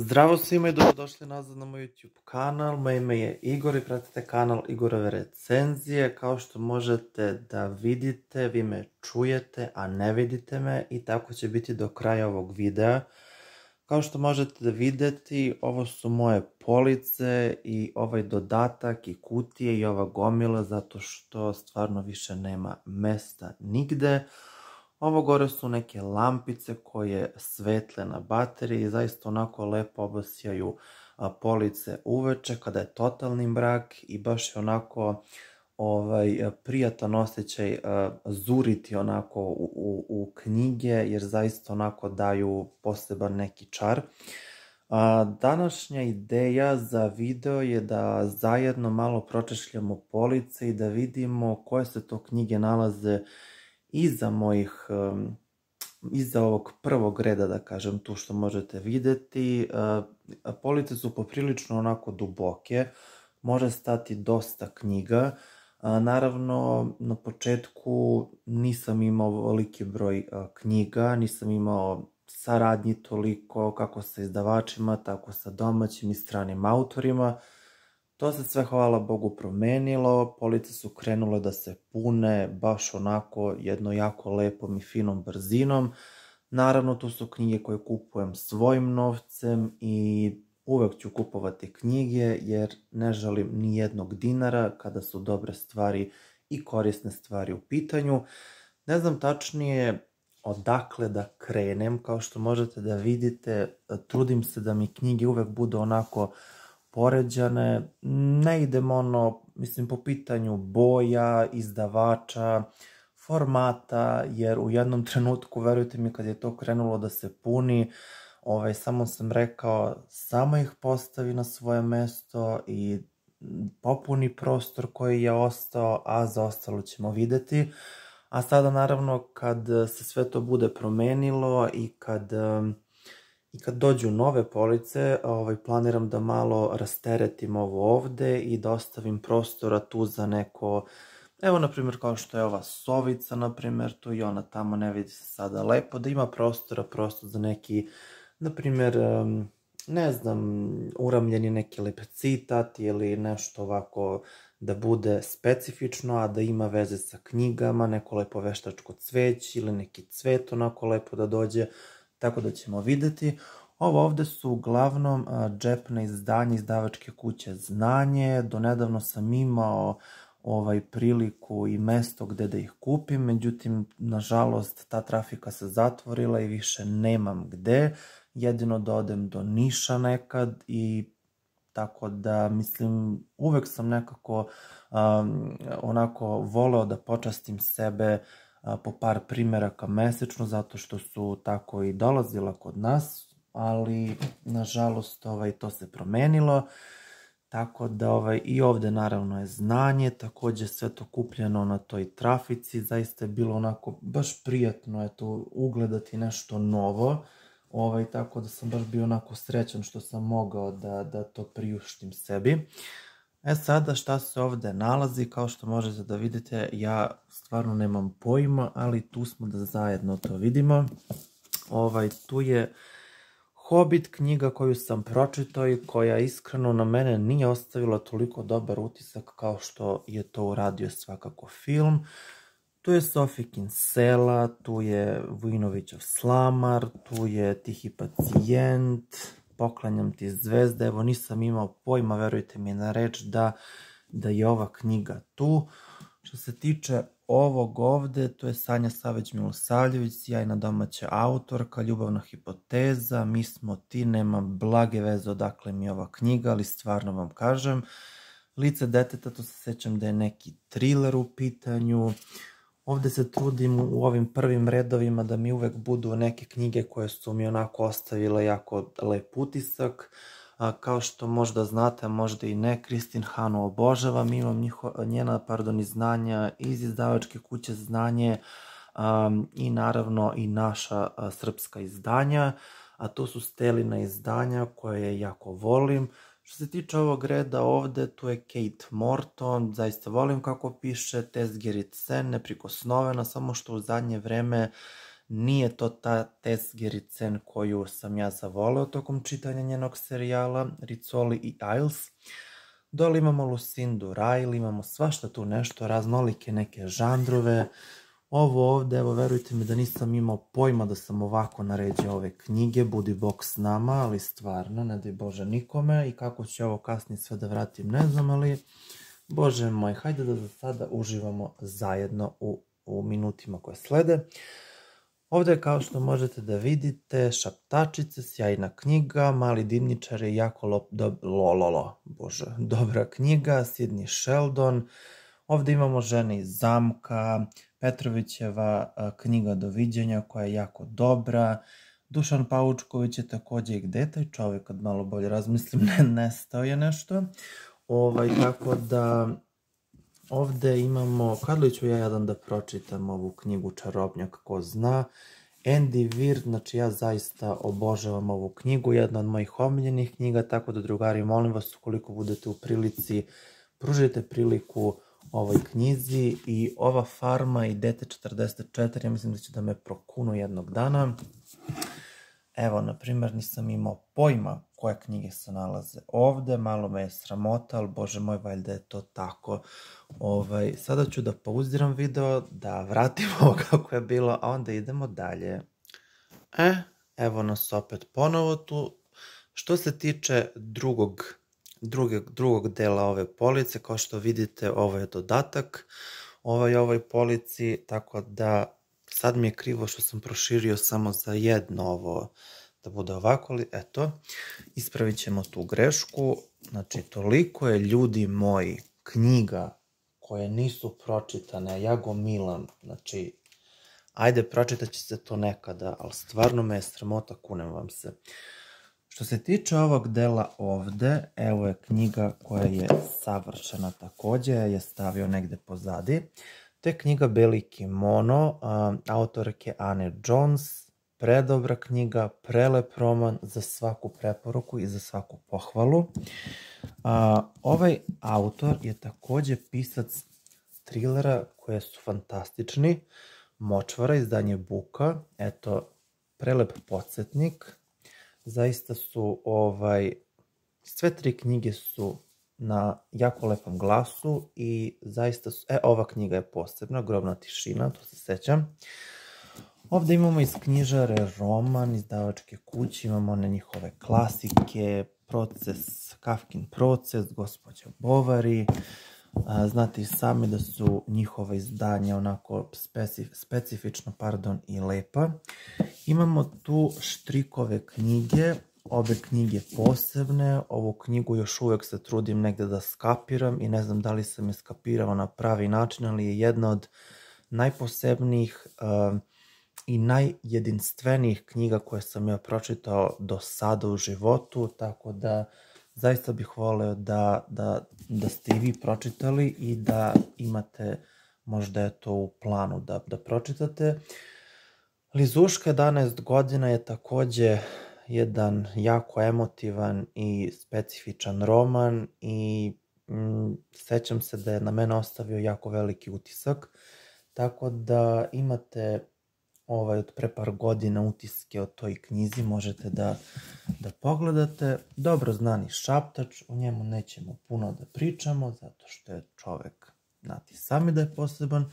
Zdravo svima i dobrodošli nazad na moj YouTube kanal. Moje ime je Igor i pratite kanal Igorove recenzije. Kao što možete da vidite, vi me čujete, a ne vidite me i tako će biti do kraja ovog videa. Kao što možete da videti, ovo su moje police i ovaj dodatak i kutije i ova gomila zato što stvarno više nema mesta nigde. Ovo gore su neke lampice koje svetle na bateriji i zaista onako lepo obasjaju police uveče kada je totalni mrak i baš je onako prijatan osjećaj zuriti onako u knjige jer zaista onako daju poseban neki čar. Današnja ideja za video je da zajedno malo pročešljamo police i da vidimo koje se to knjige nalaze iza ovog prvog reda, da kažem, tu što možete videti. Police su poprilično onako duboke, može stati dosta knjiga. Naravno, na početku nisam imao veliki broj knjiga, nisam imao saradnji toliko kako sa izdavačima, tako sa domaćim i stranim autorima. To se sve, hvala Bogu, promenilo, police su krenule da se pune baš onako jedno jako lepom i finom brzinom. Naravno, tu su knjige koje kupujem svojim novcem i uvek ću kupovati knjige jer ne želim ni jednog dinara kada su dobre stvari i korisne stvari u pitanju. Ne znam tačnije odakle da krenem, kao što možete da vidite, trudim se da mi knjige uvek budu onako poređane, ne idem po pitanju boja, izdavača, formata, jer u jednom trenutku, verujte mi, kad je to krenulo da se puni, samo sam rekao, samo ih postavi na svoje mesto i popuni prostor koji je ostao, a za ostalo ćemo videti. A sada, naravno, kad se sve to bude promenilo i kad dođu nove police, planiram da malo rasteretim ovo ovde i da ostavim prostora tu za neko, evo na primjer kao što je ova sovica na primjer, tu i ona tamo ne vidi se sada lepo, da ima prostor za neki, na primjer, ne znam, uramljeni neki lep citat ili nešto ovako da bude specifično, a da ima veze sa knjigama, neko lepo veštačko cveće ili neki cvet onako lepo da dođe. Tako da ćemo videti. Ovo ovde su uglavnom džepna izdanja izdavačke kuće Znanje. Donedavno sam imao priliku i mesto gde da ih kupim, međutim, nažalost, ta trafika se zatvorila i više nemam gde. Jedino da odem do Niša nekad i tako da, mislim, uvek sam nekako onako voleo da počastim sebe po par primeraka mesečno, zato što su tako i dolazila kod nas, ali nažalost to se promenilo, tako da i ovde naravno je Znanje, takođe sve to kupljeno na toj trafici, zaista je bilo onako baš prijatno ugledati nešto novo, tako da sam baš bio onako srećan što sam mogao da to priuštim sebi. Sada šta se ovde nalazi, kao što možete da vidite, ja stvarno nemam pojma, ali tu smo da zajedno to vidimo. Tu je Hobbit, knjiga koju sam pročitao i koja iskreno na mene nije ostavila toliko dobar utisak kao što je to uradio svakako film. Tu je Sofikin Sela, tu je Vujinovićev Slamar, tu je Tihi pacijent, Poklanjam ti zvezde, evo nisam imao pojma, verujte mi na reč da je ova knjiga tu. Što se tiče ovog ovde, to je Sanja Saveć Milosavljević, sjajna domaća autorka, Ljubavna hipoteza, Mi smo ti, nemam blage veze odakle mi je ova knjiga, ali stvarno vam kažem. Lice deteta, to se sećam da je neki thriller u pitanju. Ovde se trudim u ovim prvim redovima da mi uvek budu neke knjige koje su mi onako ostavile jako lep utisak. Kao što možda znate, a možda i ne, Kristin Hanu obožavam, imam njena izdanja iz izdavačke kuće Znanje i naravno i naša srpska izdanja, a to su Stelina izdanja koje jako volim. Što se tiče ovog reda ovde, tu je Kate Morton, zaista volim kako piše, Tezgerit Sen, neprikosnovena, samo što u zadnje vreme Nije to ta Tess Gerritsen koju sam ja zavoleo tokom čitanja njenog serijala Rizzoli i Isles. Dole imamo Lucindu Riley, imamo svašta tu nešto, raznolike neke žanrove. Ovo ovde, evo, verujte mi da nisam imao pojma da sam ovako naređao ove knjige, budi bog s nama, ali stvarno, ne daj Bože nikome, i kako će ovo kasnije sve da vratim, ne znam, ali, Bože moj, hajde da za sada uživamo zajedno u minutima koje slede. Ovde, kao što možete da vidite, Šaptačice, sjajna knjiga, Mali dimničari, jako dobra knjiga, Sidney Sheldon. Ovde imamo Žene iz zamka, Petrovićeva knjiga Doviđenja koja je jako dobra. Dušan Paučković je takođe i Gde je taj čovek, kad malo bolje razmislim, nestao je nešto. Tako da ovde imamo, kad li ću ja jedan da pročitam ovu knjigu Čarobnjak, ko zna. Andy Weir, znači ja zaista obožavam ovu knjigu, jedna od mojih omiljenih knjiga, tako da drugari, molim vas, ukoliko budete u prilici, pružite priliku ovoj knjizi. I ova farma i Dete 44, ja mislim da će da me prokunu jednog dana. Evo, na primjer, nisam imao pojma koje knjige se nalaze ovde, malo me je sramota, ali Bože moj, valjda je to tako. Sada ću da pauziram video, da vratimo ovo kako je bilo, a onda idemo dalje. Evo nas opet ponovo tu. Što se tiče drugog dela ove police, kao što vidite, ovo je dodatak ovoj polici, tako da sad mi je krivo što sam proširio samo za jedno ovo, da bude ovako, ali eto, ispravit ćemo tu grešku. Znači, toliko je, ljudi moji, knjiga koje nisu pročitane, ja gomilam, znači, ajde, pročitat će se to nekada, ali stvarno me je sramota, kunem vam se. Što se tiče ovog dela ovde, evo je knjiga koja je savršena takođe, je stavio negde pozadi. To je knjiga Beli kimono, autorke Anne Jones, predobra knjiga, prelep roman, za svaku preporuku i za svaku pohvalu. Ovaj autor je takođe pisac trilera koje su fantastični. Močvara, izdanje Buka, eto, prelep podsjetnik. Zaista su, sve tri knjige su na jako lepom glasu i zaista su, ova knjiga je posebna, Grobna tišina, to se sećam. Ovde imamo iz knjižare roman, izdavačke kuće, imamo one njihove klasike, Kafkin proces, Gospođa Bovary. Znate i sami da su njihova izdanja onako specifično, i lepa. Imamo tu Štrikove knjige, obe knjige posebne. Ovu knjigu još uvek se trudim negde da skapiram i ne znam da li sam je skapirao na pravi način, ali je jedna od najposebnijih i najjedinstvenijih knjiga koje sam ja pročitao do sada u životu, tako da zaista bih voleo da ste i vi pročitali i da imate možda je to u planu da pročitate. Lizuška 11 godina je takođe jedan jako emotivan i specifičan roman i sećam se da je na mene ostavio jako veliki utisak, tako da imate od pre par godina utiske o toj knjizi, možete da pogledate. Dobro znani Šaptač, o njemu nećemo puno da pričamo, zato što je čovek, znate sami da je poseban.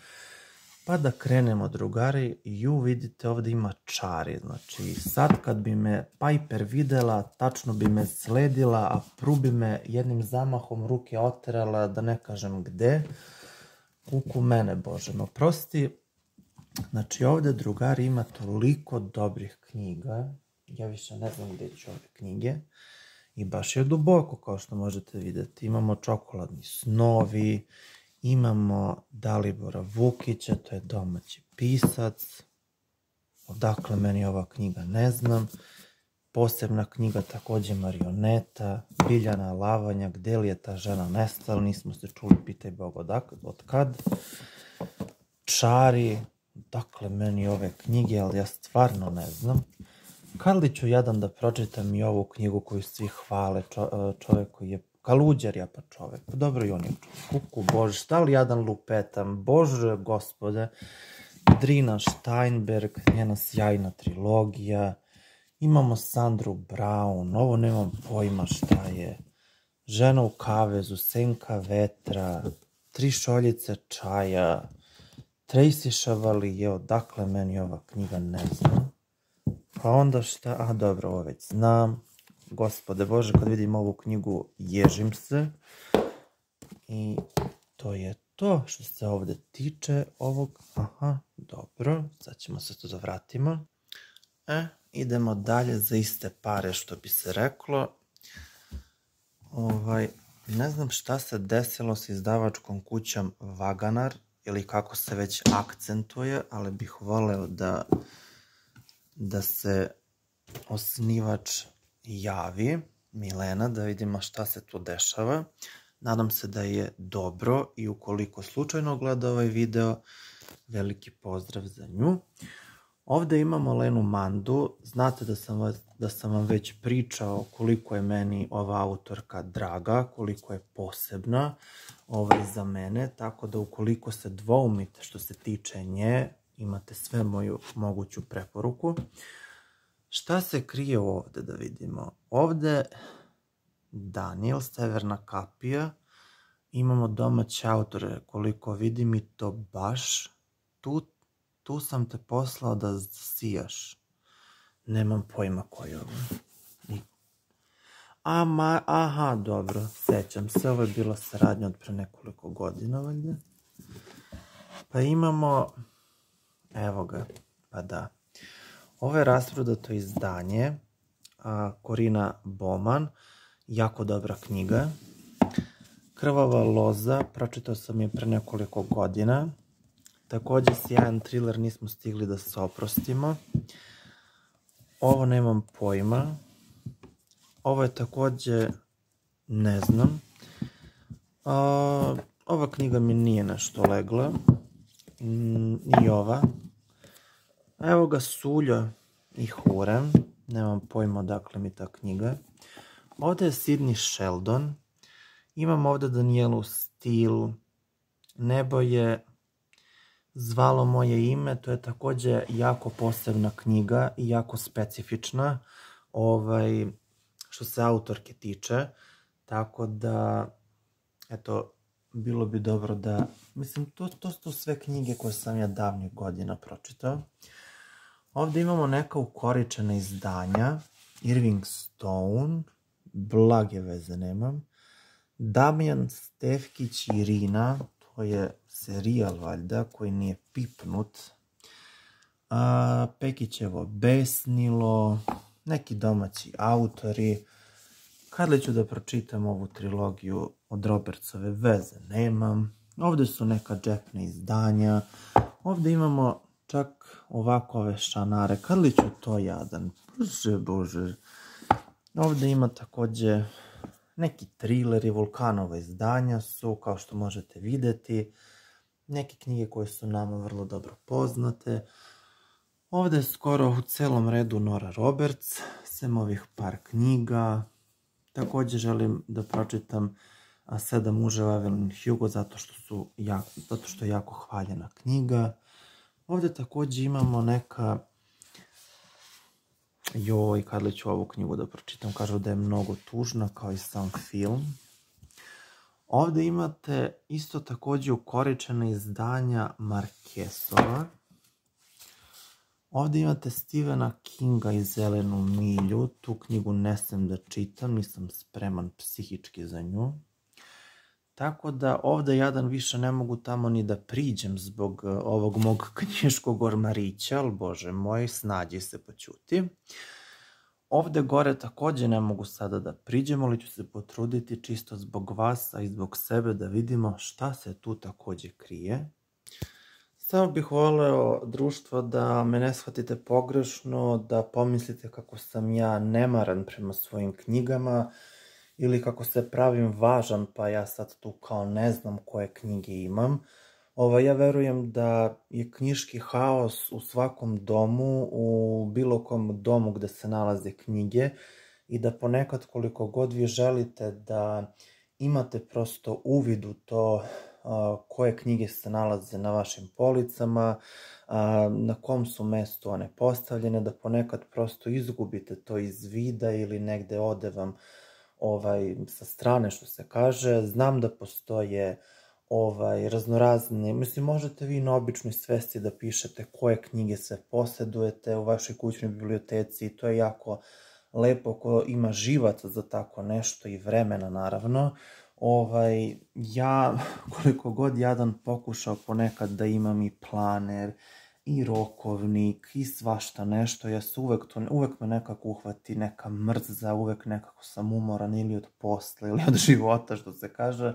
Pa da krenemo, drugari, vidite ovde ima čari, znači sad kad bi me Piper videla, tačno bi me sledila, a Pru bi me jednim zamahom ruke oterala, da ne kažem gde, kuku mene, Bože me oprosti. Znači ovde, drugari, ima toliko dobrih knjiga, ja više ne znam gde ću ove knjige, i baš je duboko, kao što možete videti. Imamo Čokoladni snovi, imamo Dalibora Vukića, to je domaći pisac, odakle meni ova knjiga ne znam, posebna knjiga takođe Marioneta, Biljana Lavanja, Gde li je ta žena nestala, nismo se čuli, pitaj Bog od kad, Čari, dakle meni ove knjige, ali ja stvarno ne znam. Kad li ću jedan da pročitam i ovu knjigu koju svi hvale, čovek koji je Kaluđer, pa čovek, pa dobro i on je čovek, kuku Bože, šta li jadan lupetam, Bože gospode, Drina Steinberg, njena sjajna trilogija. Imamo Sandru Brown, ovo nemam pojma šta je. Žena u kavezu, Senka vetra, Tri šoljice čaja, Tracy Chevalier, odakle meni ova knjiga, ne znam. Pa onda šta, a dobro, ovo već znam. Gospode Bože, kad vidim ovu knjigu, ježim se. I to je to što se ovdje tiče ovog. Aha, dobro, sad ćemo se to da vratimo. Idemo dalje za iste pare, što bi se reklo. Ne znam šta se desilo s izdavačkom kućom Vaganar, ili kako se već akcentuje, ali bih voleo da se osnivač javi, Milena, da vidimo šta se tu dešava. Nadam se da je dobro i ukoliko slučajno gleda ovaj video, veliki pozdrav za nju. Ovdje imamo Lenu Mandu. Znate da sam vam već pričao koliko je meni ova autorka draga, koliko je posebna za mene, tako da ukoliko se dvoumite što se tiče nje, imate sve moju moguću preporuku. Šta se krije ovdje, da vidimo? Ovdje Daniel, Severna kapija, imamo domaće autore, koliko vidim i to baš. Tu sam te poslao da sijaš. Nemam pojma ko je ovo. Aha, dobro, sećam se, ovo je bila saradnja od pre nekoliko godina, valjda. Pa imamo, evo ga, pa da. Ovo je rasprodato izdanje, Corina Baumann, jako dobra knjiga. Krvava loza, pročitao sam je pre nekoliko godina. Također sjajan thriller, nismo stigli da se oprostimo. Ovo nemam pojma. Ovo je također, ne znam. Ova knjiga mi nije nešto legla. Ni ova. Evo ga Suljo i Hurem. Nemam pojma odakle mi ta knjiga. Ovdje je Sidney Sheldon. Imam ovdje Danielu Steele. Nebo je zvalo moje ime. To je također jako posebna knjiga i jako specifična. Što se autorke tiče. Tako da, eto, bilo bi dobro da, mislim, to su sve knjige koje sam ja davnih godina pročitao. Ovdje imamo neka ukoričena izdanja. Irving Stone, blage veze nemam. Damjan Stefkić i Irina, to je serijal valjda koji nije pipnut. Pekićevo Besnilo, neki domaći autori. Kad li ću da pročitam ovu trilogiju od Robertsove, veze nemam. Ovdje su neka džepna izdanja. Ovdje imamo čak ovako ove šanare. Kad li ću to jadan? Bože. Ovdje ima također neki thrilleri, Vulkanova izdanja su, kao što možete vidjeti. Neke knjige koje su nama vrlo dobro poznate. Ovdje je skoro u celom redu Nora Roberts, sem ovih par knjiga. Također želim da pročitam 7 muževa Evelyn Hugo zato što je jako hvaljena knjiga. Ovdje također imamo neka, kad li ću ovu knjigu da pročitam, kažu da je mnogo tužna kao i sam film. Ovdje imate isto također ukoričena izdanja Marquesova. Ovdje imate Stephena Kinga i Zelenu milju. Tu knjigu ne smem da čitam, nisam spreman psihički za nju. Tako da ovdje jadan više ne mogu tamo ni da priđem zbog ovog mog knjiškog ormarića, ali bože moj, snađi se, poćuti. Ovdje gore također ne mogu sada da priđem, ali ću se potruditi čisto zbog vas, a i zbog sebe da vidimo šta se tu također krije. Samo bih voleo, društvo, da me ne shvatite pogrešno, da pomislite kako sam ja nemaran prema svojim knjigama ili kako se pravim važan pa ja sad tu kao ne znam koje knjige imam. Ja verujem da je knjiški haos u svakom domu, u bilo kom domu gde se nalaze knjige i da ponekad koliko god vi želite da imate prosto uvid u to koje knjige se nalaze na vašim policama, na kom su mestu one postavljene, da ponekad prosto izgubite to iz vida ili negde ode vam sa strane, što se kaže. Znam da postoje raznorazne, mislim, možete vi na običnoj svesti da pišete koje knjige sve posjedujete u vašoj kućnoj biblioteci i to je jako lepo ko ima živaca za tako nešto i vremena, naravno. Ja, koliko god jadan, pokušao ponekad da imam i planer, i rokovnik, i svašta nešto, ja se uvek me nekako uhvati neka mrza, uvek nekako sam umoran ili od posla ili od života, što se kaže,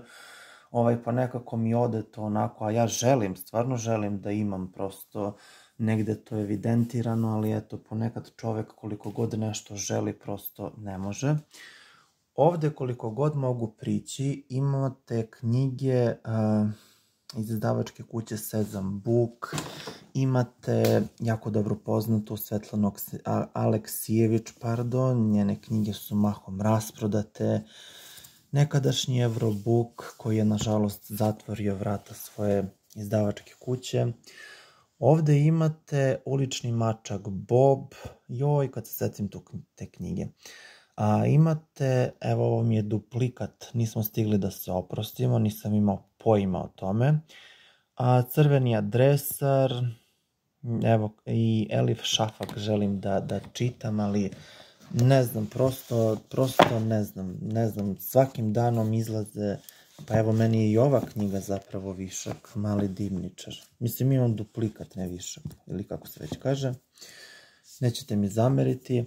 pa nekako mi ode to onako, a ja stvarno želim da imam prosto negde to evidentirano, ali eto, ponekad čovek koliko god nešto želi, prosto ne može. Ovde koliko god mogu prići, imate knjige iz izdavačke kuće Sezam Book, imate jako dobro poznatu Svetlanu Aleksijević, njene knjige su mahom rasprodate, nekadašnji Eurobook koji je nažalost zatvorio vrata svoje izdavačke kuće. Ovde imate Ulični mačak Bob, kad se setim te knjige. Imate, evo ovo mi je duplikat, nismo stigli da se oprostimo, nisam imao pojma o tome. Crveni adresar, evo i Elif Šafak želim da čitam, ali ne znam, prosto ne znam, svakim danom izlaze, pa evo meni je i ova knjiga zapravo višak, Mali dimničar. Mislim, imam duplikat, ne višak, ili kako se već kaže, nećete mi zameriti.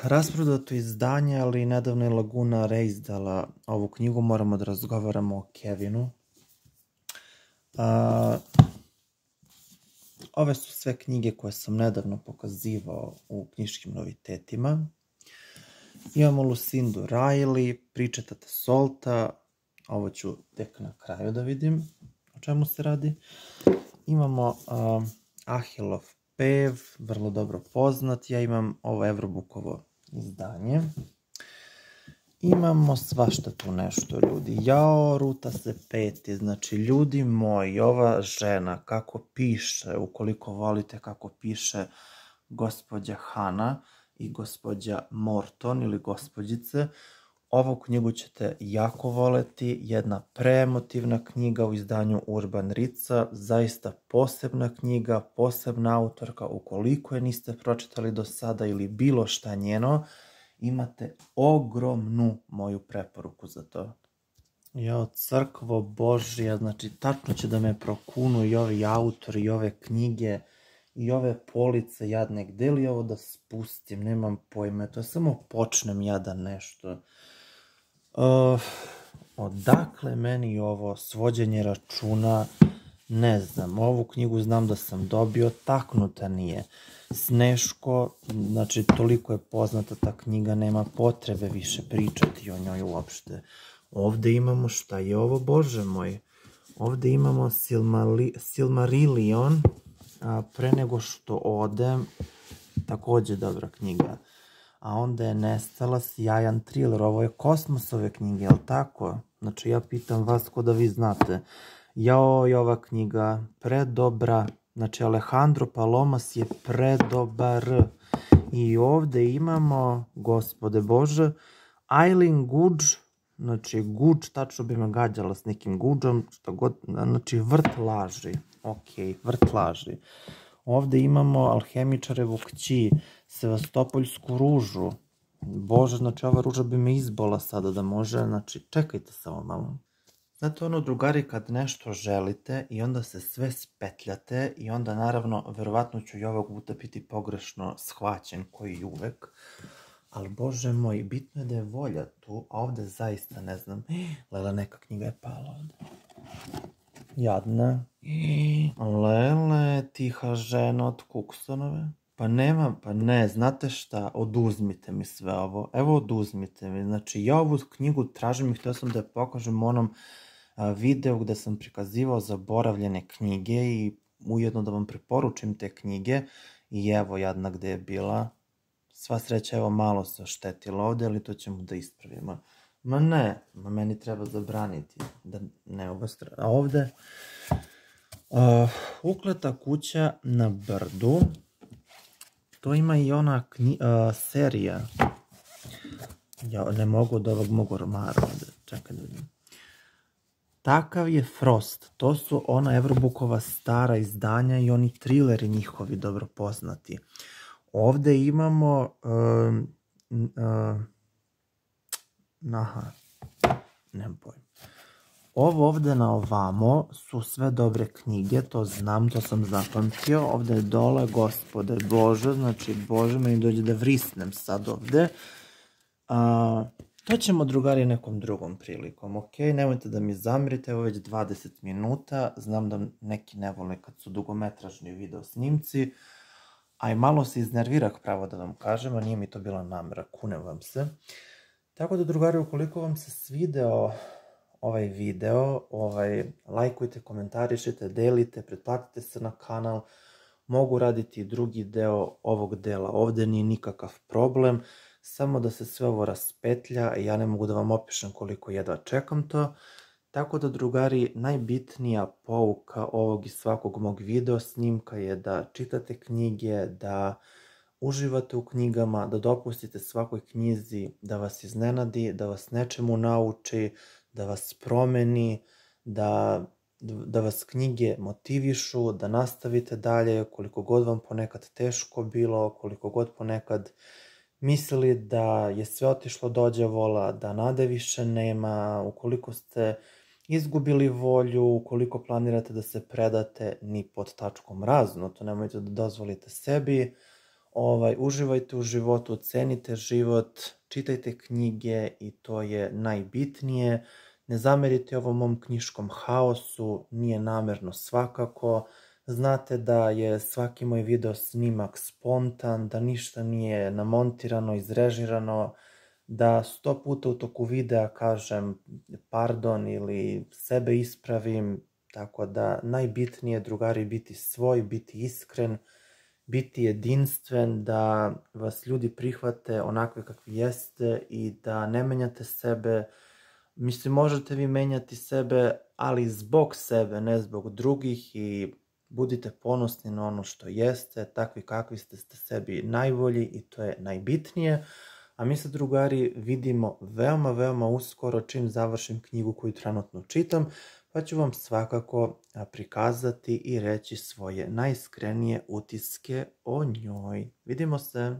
Rasprodato izdanje, ali nedavno je Laguna reizdala ovu knjigu, moramo da razgovaramo o Kevinu. Ove su sve knjige koje sam nedavno pokazivao u knjiškim novitetima. Imamo Lucindu Riley, Priče tate Solta, ovo ću tek na kraju da vidim o čemu se radi. Imamo Ahilov pev, vrlo dobro poznat, ja imam ovo Eurobookovo izdanje. Imamo svašta tu nešto, ljudi. Ruta se peti, znači, ljudi moji, ova žena kako piše, ukoliko volite kako piše gospođa Hana i gospođa Morton ili gospođice, ovu knjigu ćete jako voleti, jedna preemotivna knjiga u izdanju Urban Rica, zaista posebna knjiga, posebna autorka, ukoliko je niste pročitali do sada ili bilo šta njeno, imate ogromnu moju preporuku za to. Crkvo Božja, znači tačno će da me prokunu i ovi autori i ove knjige i ove police jadne, gde li ovo da spustim, nemam pojma, to samo počnem jadan nešto. Odakle meni ovo svođenje računa, ne znam, ovu knjigu znam da sam dobio, taknuta nije. Sneško, znači toliko je poznata ta knjiga, nema potrebe više pričati o njoj uopšte. Ovde imamo, šta je ovo, Bože moj? Ovde imamo Silmarillion, Pre nego što odem, takođe dobra knjiga. A onda je nestala, sjajan thriller, ovo je Kosmosove knjige, jel tako? Znači ja pitam vas ko da vi znate. Ova knjiga, predobra, znači Alejandro Palomas je predobar. I ovde imamo, gospode Bože, Eileen Guđ, znači Guđ, tačno bi me gađala s nekim Guđom, šta god, znači Vrt laži, Vrt laži. Ovde imamo Alhemičarevu kći, Sevastopoljsku ružu. Bože, znači ova ruža bi me izbola sada da može, znači čekajte samo malo. Znate ono, drugari, kad nešto želite i onda se sve spetljate i onda naravno, verovatno ću i ovog puta biti pogrešno shvaćen, koji i uvek, ali Bože moj, bitno je da je volja tu, a ovde zaista ne znam, Lela, neka knjiga je pala ovde. Jadna. Lele, tiha žena od Kuksonove. Pa nema, pa ne, znate šta, oduzmite mi sve ovo. Evo, oduzmite mi. Znači, ja ovu knjigu tražim i htio sam da je pokažem u onom videu gde sam prikazivao zaboravljene knjige i ujedno da vam preporučim te knjige. I evo, jadna gde je bila. Sva sreća, evo, malo se oštetila ovde, ali to ćemo da ispravimo. Ma ne, meni treba zabraniti da ne obastra. A ovde Ukleta kuća na brdu. To ima i ona serija. Ja ne mogu od ovog mog ormara ovde. Čekaj da vidim. Takav je Frost. To su ona Everbookova stara izdanja i oni trileri njihovi dobro poznati. Ovde imamo nemam pojma. Ovo ovde na ovamo su sve dobre knjige, to znam, to sam zapamtio. Ovde je dole Gospode Bože, znači Bože, meni dođe da vrisnem sad ovde. To ćemo, drugari, nekom drugom prilikom, ok? Nemojte da mi zamerite, evo već 20 minuta, znam da neki ne vole kad su dugometražni video snimci, a i malo se iznervirah, pravo da vam kažem, a nije mi to bila namera, kunem vam se. Tako da, drugari, ukoliko vam se svideo ovaj video, lajkujte, komentarišite, delite, pretplatite se na kanal, mogu raditi i drugi deo ovog dela, ovde nije nikakav problem, samo da se sve ovo raspetlja, ja ne mogu da vam opišem koliko jedva čekam to. Tako da, drugari, najbitnija pouka ovog i svakog mog video snimka je da čitate knjige, da uživate u knjigama, da dopustite svakoj knjizi da vas iznenadi, da vas nečemu nauči, da vas promeni, da vas knjige motivišu, da nastavite dalje, koliko god vam ponekad teško bilo, koliko god ponekad mislili da je sve otišlo do đavola, da nade više nema, ukoliko ste izgubili volju, ukoliko planirate da se predate ni pod tačkom razno, to nemojte da dozvolite sebi, uživajte u životu, ocenite život, čitajte knjige i to je najbitnije. Ne zamerite ovom mom knjiškom haosu, nije namerno svakako. Znate da je svaki moj video snimak spontan, da ništa nije namontirano, izrežirano, da 100 puta u toku videa kažem pardon ili sebe ispravim, tako da najbitnije, drugari, biti svoj, biti iskren, biti jedinstven, da vas ljudi prihvate onakve kakvi jeste i da ne menjate sebe. Mislim, možete vi menjati sebe, ali zbog sebe, ne zbog drugih, i budite ponosni na ono što jeste, takvi kakvi ste sebi najbolji i to je najbitnije. A mi se, drugari, vidimo veoma, veoma uskoro čim završim knjigu koju trenutno čitam, pa ću vam svakako prikazati i reći svoje najiskrenije utiske o njoj. Vidimo se!